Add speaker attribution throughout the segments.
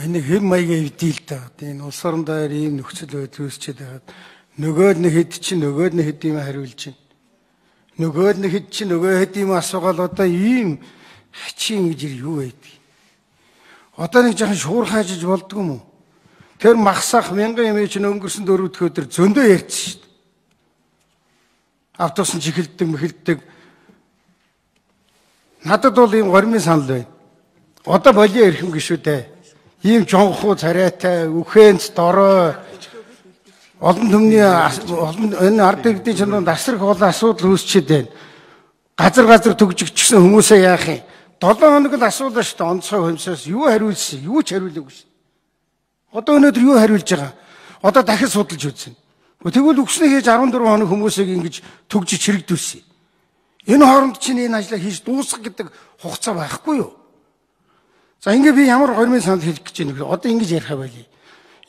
Speaker 1: Энэ хэм маягийн эвдэл та. Энэ улс орон дээр ийм нөхцөл байдал үүсчээд байгаад нөгөөд нь хэд чинь нөгөөд нь хэд юм хариулж байна. Нөгөөд нь хэд чинь нөгөө хэд юм асуугаал одоо ийм хачин гэж юу байдгийг. Одоо нэг жоохон шуур хаажиж болдгоо юм уу? Тэр махсах 1000 юм чинь өнгөрсөн 4 дахь өдөр зөндөө ярьсан шүү дээ. Автобус нь чихэлдэг мэхэлдэг. Надад бол ийм гормын санал байна. Одоо болио ирэх юм гişүү дээ. Ийм жонхуу царайтай, үхэнц дорой олон түмний энэ ард иргэдийн чонд асрах олон асуудал үүсчихэд байна. Газар төгжигчсэн хүмүүсээ яах юм? 7 хоног л асуудал шүү дээ. Онцгой хэмсээс юу хариулсан? Юу ч хариулаагүй шүү. Одоо өнөөдөр юу хариулж байгаа? Одоо дахиж судалж үзсэн. Тэгвэл өгснөө хийж 14 хоног хүмүүсийг ингэж төгжиж хэрэгдүүлсэн. Энэ хооронд чинь энэ ажлаа хийж дуусгах гэдэг хугацаа байхгүй юу? За ингээ би ямар гормын санал хэлэх гэж байна вэ? Одоо ингэж ярих байли.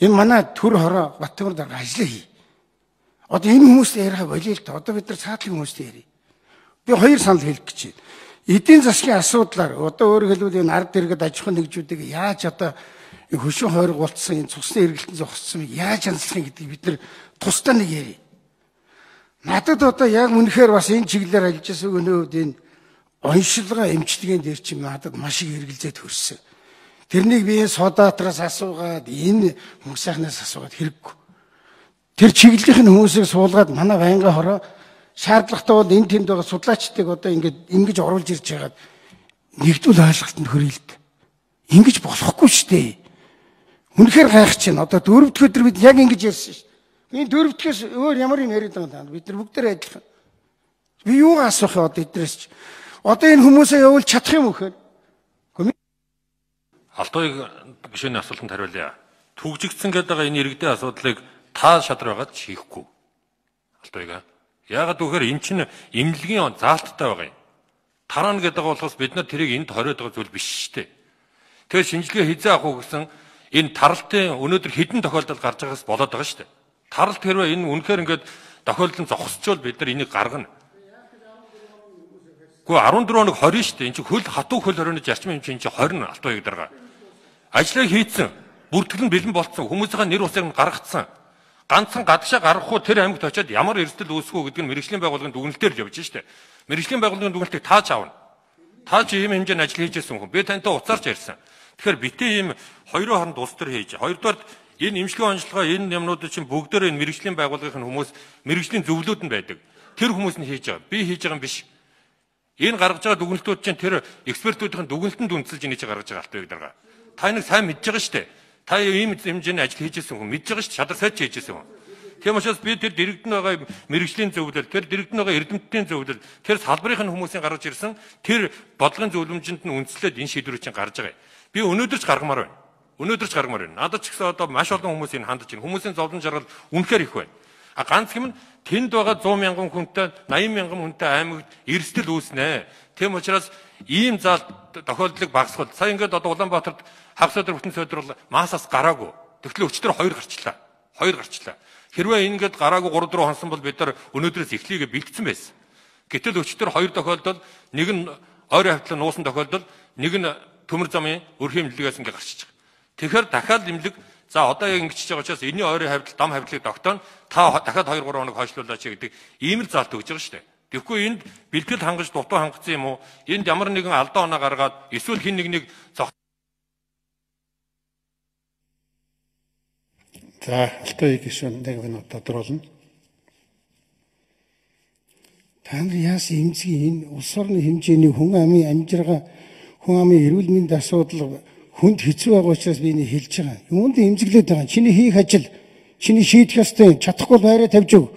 Speaker 1: Энэ манай төр хороо Баттамар дарга ажиллаа хий. Одоо энэ хүмүүстэй ярих байли л да. Одоо бид нар цаатлын хүмүүстэй ярий. Би хоёр санал хэлэх гэж байна. Эдийн засгийн асуудлаар одоо өөрөөр хэлбэл энэ ард иргэд аж ахуйн нэгжүүдийг яаж одоо хөшөө хойрог болцсон энэ цусны эргэлтэн зогссон яаж хянслахын гэдгийг бид нар тусдаа нэг ярий. Надад одоо яг үнэхээр бас энэ чиглэлээр ажиллаж байгаа өнөөдөр энэ оншилгоо эмчилгээнд дээр чи надад маш их эргэлзээд хөрсөн. Тэрнийг би энэ содатраас асуугаад энэ хүмүүсийнхнаас асуугаад хэрэггүй. Тэр чиглэлийн хүмүүсийг суулгаад манай байнгын хороо шаардлагатай бол энэ тэнд байгаа судлаачдыг одоо ингэж оруулж ирж байгаад нэгдвэл ойлголтод хүрээ л дээ. Ингэж болохгүй шүү дээ. Үнэхээр гайхаж байна. Одоо 4 дахь өдөр бид яг ингэж ярьсан шүү. Энэ 4 дахьээс өөр ямар юм яриад байгаа юм. Бид нар бүгдээр адилхан. Би юу асуух вэ одоо эдрээс ч. Одоо энэ хүмүүсээ явуул чадах юм өгөхөр.
Speaker 2: Алтууг гишүүний асуултанд хариулъя. Түгжигдсэн гэдэг байгаа энэ иргэдийн асуудлыг та шадар байгаад шийхгүй. Алтууг. Яагаад гэвэл эн чинь эмнэлгийн заалттай байгаа юм. Тараана гэдэг болохоос бид нар тэрийг энд хориод байгаа зүйл биш шүү дээ. Тэгэхээр шинжилгээ хизээ авах уу гэсэн энэ таралтын өнөөдөр хэдэн тохиолдол гарч байгаас болоод байгаа шүү дээ. Таралт хэрвээ энэ үнэхээр ингээд тохиолдол зогсчвол бид нар энийг гаргана. Гэхдээ 14 хоног 20 шүү дээ. Энд чинь хөл хатуу хөл хорионы зарчим юм чинь 20 алтууяг дарга. Ажлыг хийцэн, бүртгэл нь бэлэн болцсон, хүмүүсийн нэр усыг нь гаргацсан. Ганцхан гадагшаа гаргахгүй тэр аймагт очиод ямар эрсдэл үүсгүү гэдэг нь мэрэгжлийн байгууллагын дүгнэлтээр л явж штэ. Мэрэгжлийн байгууллагын дүгнэлтийг тааж аавна. Тааж ийм хэмжээний ажил хийж ирсэн хүн. Би тантай уцаарч ярьсан. Тэгэхээр битээ ийм хоёрын хооронд улс төр хийж. Хоёрдугаар энэ имчилгээ онцлогоо энэ юмнууд чинь бүгдөө энэ мэрэгжлийн байгууллагын хүмүүс мэрэгжлийн зөвлөлд нь байдаг. Тэр хүмүүс нь хийж байгаа. Би хийж байгаа юм биш. Энэ гаргаж байгаа дүгнэлтүүд чинь тэр экспертүүдийн дүгнэлтэнд үндэслэж энэ хийж гаргаж байгаа алтууяг дарга. Та нэг сайн мэдж байгаа штэ. Та ийм хэмжээний ажил хийж ирсэн хүн мэдж байгаа шүү. Шадар сайд хийж ирсэн хүн. Тийм учраас би тэр дэрэгдэн байгаа мэрэгжлийн зөвлөл, тэр дэрэгдэн байгаа эрдэмтдийн зөвлөл, тэр салбарын хүмүүсийн гаргаж ирсэн тэр бодлогын зөвлөмжөнд нь үндэслээд энэ шийдвэрүүд чинь гарч байгаа. Би өнөөдөр ч гаргамаар байна. Өнөөдөр ч гаргамаар байна. Надад ч гэсэн одоо маш олон хүмүүс энэ хандж байна. Хүмүүсийн зовлон жаргал үнэхээр их байна. А ганц юм нь тэнд байгаа 100 мянган хүнтэй, 80 мянган хүнтэй аймагт эрсдэл үүснэ. Тийм учраас ийм заалт тохиолдлыг багасгах. Сая ингээд одоо Улаанбаатарт хагас өдөр бүтэн сойдрол масаас гараагүй. Тэгтэл өчтөр 2 гарчлаа. 2 гарчлаа. Хэрвээ ингээд гараагүй 3 4 хонсон бол бид нар өнөөдрөөс эхлэегээ бэлдсэн байсан. Гэтэл өчтөр 2 тохиолдол нэг нь ойрын хавтлан нуусан тохиолдол нэг нь төмөр замын өрхийн имлэгээс ингээд гарчиж байгаа. Тэгэхээр дахиад имлэг за одоо яг ингэж байгаа учраас энэний ойрын хавтал дам хавтлыг тогтооно. Та дахиад 2 3 хоног хойшлуулаач гэдэг ийм л заалт өгж байгаа шүү дээ. Тэгэхгүй энд бэлтгэл хангаж дутуу хангацсан юм уу? Энд ямар нэгэн алдаа оноо гаргаад эсвэл хин нэг
Speaker 3: За, алтууяг гишүүн нэг минут тодруулна. Та нар яасан эмзгийн энэ улс орны хэмжээний хүн амын амжиргаа, хүн амын эрүүл мэндийн асуудал хүнд хэцүү байгаа учраас би энэ хэлж байгаа. Юунд эмзэглээд байгаа? Чиний хийх ажил, чиний шийдэх ёстой, чадахгүй байраа тавьж өг.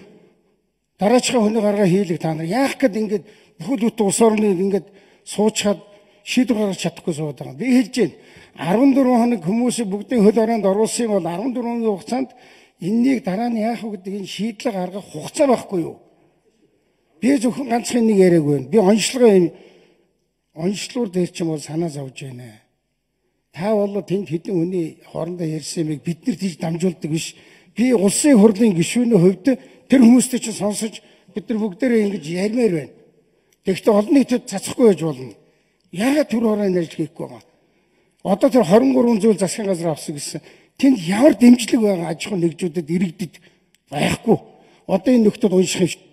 Speaker 3: Дараачихаа хүний гаргаа хийлэг та нар. Яах гээд ингээд бүхэл бүтэн улс орны ингээд суучаад шийдвэр гаргаж чадахгүй суугаад байгаа. Би хэлж байна. 14 хоног хүмүүсийг бүгдийн хөл хорионд оруулсан бол 14 хоногийн хугацаанд энэнийг дараа нь яах вэ гэдэг энэ шийдлээ гаргах хугацаа байхгүй юу? Би зөвхөн ганцхан нэг яриаг байна. Би онцлогоор дээр ч юм бол санаа зовж байна. Та бол тэнд хэдэн хүний хоорондоо ярьсан юмыг биднэрт хийж дамжуулдаг биш. Би улсын хурлын гишүүний хувьд тэр хүмүүстэй чинь сонсож бид нар бүгдээрээ ингэж ярмаар байна. Тэгэхдээ олон нийтэд цацахгүй байж болно. Яагаад төр хороо нэрж хийхгүй байгаа? Одоо тэр 23 зүйл засгийн газар авсан гэсэн. Тэнд ямар дэмжлэг байгаа аж ахуй нэгжүүдэд иргэдэд байхгүй. Одоо энэ нөхдөд унших юм